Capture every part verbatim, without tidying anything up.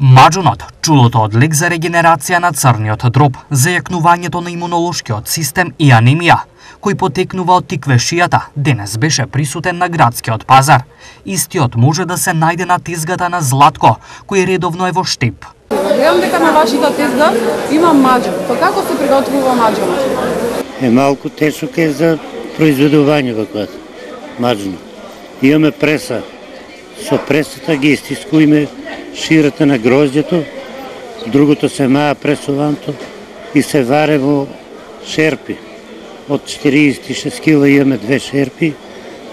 Маџунот, чудото од лек за регенерација на црниот дроб, за јакнувањето на имунолошкиот систем и анемија, кој потекнува од тиквешијата, денес беше присутен на градскиот пазар. Истиот може да се најде на тезгата на Златко, кој редовно е во Штип. Гледам дека на вашата тезга има маџун. Па како се приготвува маџунот? Е малку тешок е за произведување ваква маџун. Имаме преса. Со пресата ги истискуваме ширата на гроздјето, другото се маа пресуванто и се варе во шерпи. Од четириесет и шест кила имаме две шерпи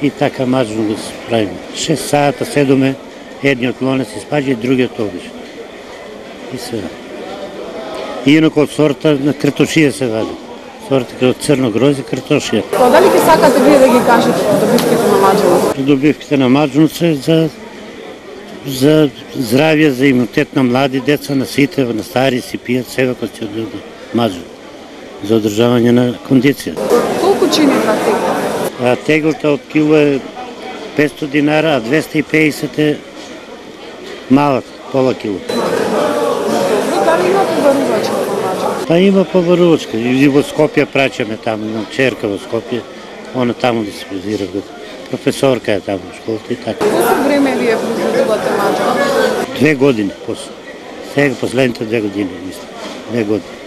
и така маџун да се правиме. шест сата седоме, едниот лонец испаѓа и другиот обиш. И се. И инако од сорта на картошија се вади. Сорта од црно грозде картошија. Па дали ќе сакате вие да ги кажете добивките на маџунот? Добивките на маџунот се за за здравје, за имунитет на млади деца, на сите, на стари си пијат, себе кој ќе одиде маџун за одржавање на кондиција. Колку чини една тегла? А теглата од кило е петстотини динара, а двеста и педесет е малак, пола кило. Дали има побарувачка во маџун? Па има побарувачка. И во Скопје праќаме таму, имам черка во Скопје, она таму да се позира. Професорка е таму во школата и така. Колку време вие произведувате маџун? Две години после. Сега последните две години, мислам. Две години.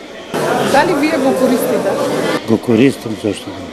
Дали вие го користите? Го користам, зашто не.